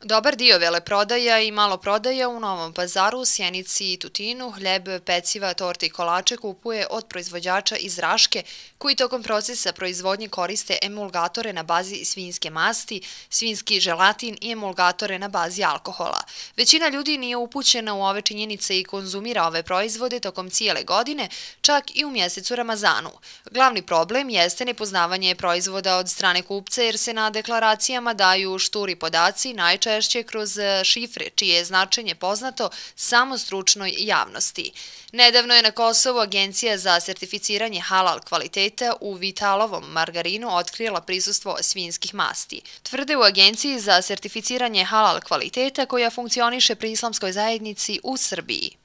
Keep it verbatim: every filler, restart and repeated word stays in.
Dobar dio veleprodaja i maloprodaja u Novom Pazaru, Sjenici i Tutinu hljeb, peciva, torte i kolače kupuje od proizvođača iz Raške, koji tokom procesa proizvodnje koriste emulgatore na bazi svinjske masti, svinjski želatin i emulgatore na bazi alkohola. Većina ljudi nije upućena u ove činjenice i konzumira ove proizvode tokom cijele godine, čak i u mjesecu Ramazanu. Glavni problem jeste nepoznavanje proizvoda od strane kupca jer se na deklaracijama daju šturi podaci, najčešće češće kroz šifre, čije je značenje poznato samo stručnoj javnosti. Nedavno je na Kosovu Agencija za sertificiranje halal kvaliteta u Vitalovom margarinu otkrila prisustvo svinjskih masti. Tvrde u Agenciji za sertificiranje halal kvaliteta koja funkcioniše pri islamskoj zajednici u Srbiji.